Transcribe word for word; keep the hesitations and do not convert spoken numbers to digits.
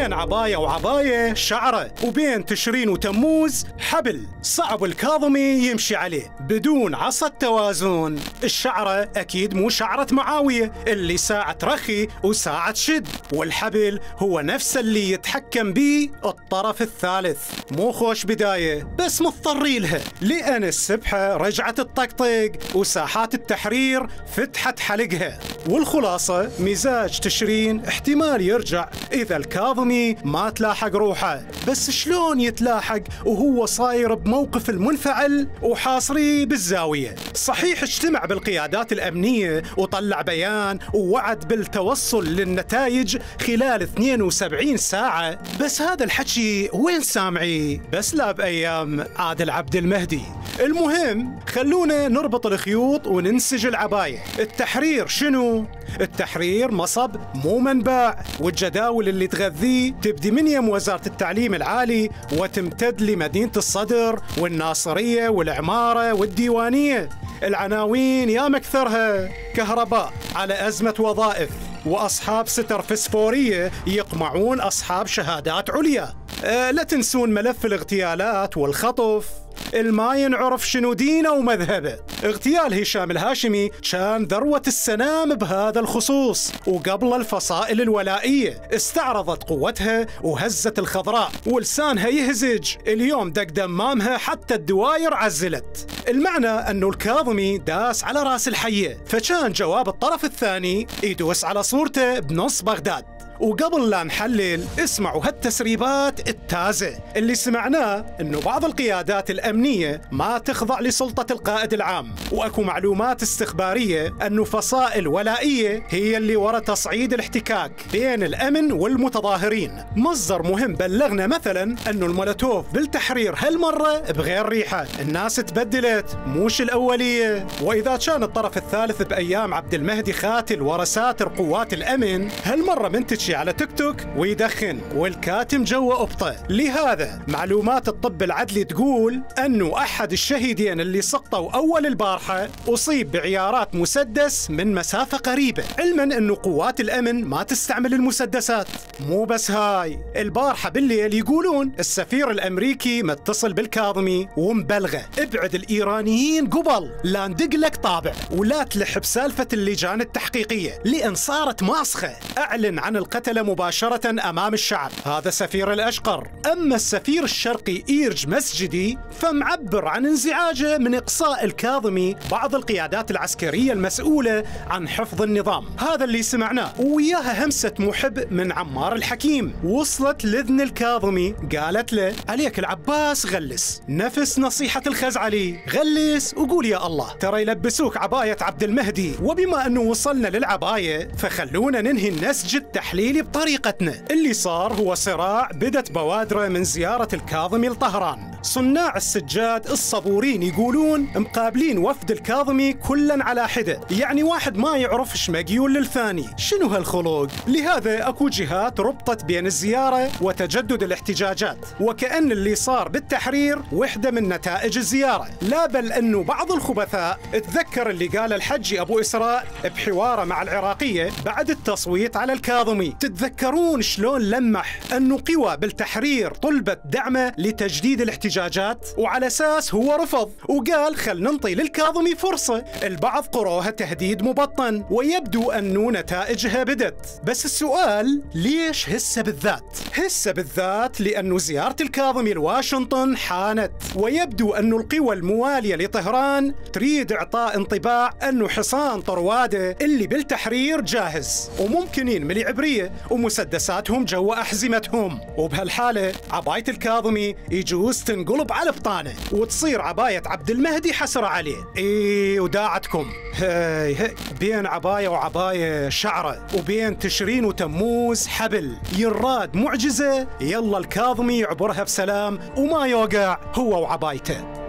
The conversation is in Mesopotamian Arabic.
بين عباية وعباية شعرة، وبين تشرين وتموز حبل صعب الكاظمي يمشي عليه بدون عصا التوازن. الشعرة أكيد مو شعرة معاوية اللي ساعة ترخي وساعة شد، والحبل هو نفس اللي يتحكم بيه الطرف الثالث. مو خوش بداية بس مضطرين لها، لأن السبحة رجعت الطقطق وساحات التحرير فتحت حلقها. والخلاصة مزاج تشرين احتمال يرجع إذا الكاظمي ما تلاحق روحه، بس شلون يتلاحق وهو صاير بموقف المنفعل وحاصري بالزاوية؟ صحيح اجتمع بالقيادات الأمنية وطلع بيان ووعد بالتوصل للنتائج خلال اثنين وسبعين ساعة، بس هذا الحكي وين سامعي؟ بس لا بأيام عادل عبد المهدي. المهم خلونا نربط الخيوط وننسج العباية. التحرير شنو؟ التحرير مصب مو منبع، والجداول اللي تغذيه تبدي من يم وزارة التعليم العالي وتمتد لمدينة الصدر والناصرية والعمارة والديوانية. العناوين يا مكثرها: كهرباء على أزمة وظائف، وأصحاب ستر فسفورية يقمعون أصحاب شهادات عليا. أه لا تنسون ملف الاغتيالات والخطف، الما ينعرف شنو دينه ومذهبه. اغتيال هشام الهاشمي كان ذروة السنام بهذا الخصوص، وقبل الفصائل الولائية استعرضت قوتها وهزت الخضراء ولسانها يهزج. اليوم دق دمامها حتى الدواير عزلت. المعنى أنه الكاظمي داس على راس الحية، فكان جواب الطرف الثاني يدوس على صورته بنص بغداد. وقبل لا نحلل اسمعوا هالتسريبات التازة اللي سمعناه، انه بعض القيادات الامنية ما تخضع لسلطة القائد العام، واكو معلومات استخبارية انه فصائل ولائية هي اللي ورا تصعيد الاحتكاك بين الامن والمتظاهرين. مصدر مهم بلغنا مثلا انه المولوتوف بالتحرير هالمرة بغير ريحة، الناس تبدلت موش الاولية. واذا كان الطرف الثالث بايام عبد المهدي خاتل ورا ساتر قوات الامن، هالمرة منتج على تيك توك ويدخن والكاتم جوا أبطة. لهذا معلومات الطب العدلي تقول أنه أحد الشهيدين اللي سقطوا أول البارحة أصيب بعيارات مسدس من مسافة قريبة، علما أنه قوات الأمن ما تستعمل المسدسات. مو بس هاي، البارحة بالليل يقولون السفير الأمريكي متصل بالكاظمي ومبلغه: ابعد الإيرانيين قبل لا ندق لك طابع ولا تلح بسالفة اللجان التحقيقية، لأن صارت ماسخة. أعلن عن القتل مباشرة أمام الشعب. هذا سفير الأشقر. أما السفير الشرقي إيرج مسجدي فمعبر عن انزعاجه من إقصاء الكاظمي بعض القيادات العسكرية المسؤولة عن حفظ النظام. هذا اللي سمعناه، وياها همسة محب من عمار الحكيم وصلت لذن الكاظمي، قالت له: عليك العباس غلس، نفس نصيحة الخزعلي، غلس وقول يا الله، ترى يلبسوك عباية عبد المهدي. وبما أنه وصلنا للعباية فخلونا ننهي النسج التحليلي بطريقتنا. اللي صار هو صراع بدت بوادره من زيارة الكاظمي لطهران. صناع السجاد الصبورين يقولون مقابلين وفد الكاظمي كلا على حدة، يعني واحد ما يعرف ايش مقيول للثاني. شنو هالخلق؟ لهذا اكو جهات ربطت بين الزيارة وتجدد الاحتجاجات، وكأن اللي صار بالتحرير وحدة من نتائج الزيارة. لا بل انه بعض الخبثاء تذكر اللي قال الحجي ابو اسراء بحواره مع العراقية بعد التصويت على الكاظمي. تتذكرون شلون لمح انه قوى بالتحرير طلبت دعمه لتجديد الاحتجاجات، وعلى اساس هو رفض وقال خل ننطي للكاظمي فرصه. البعض قروها تهديد مبطن، ويبدو انه نتائجها بدت. بس السؤال ليش هسه بالذات؟ هسه بالذات لانه زياره الكاظمي لواشنطن حانت، ويبدو انه القوى المواليه لطهران تريد اعطاء انطباع انه حصان طرواده اللي بالتحرير جاهز وممكنين ملي عبريه ومسدساتهم جوا أحزمتهم. وبهالحالة عباية الكاظمي يجوز تنقلب على بطانه وتصير عباية عبد المهدي حسرة عليه. ايه وداعتكم هاي هاي بين عباية وعباية شعرة، وبين تشرين وتموز حبل. يراد معجزة، يلا الكاظمي يعبرها بسلام وما يوقع هو وعبايته.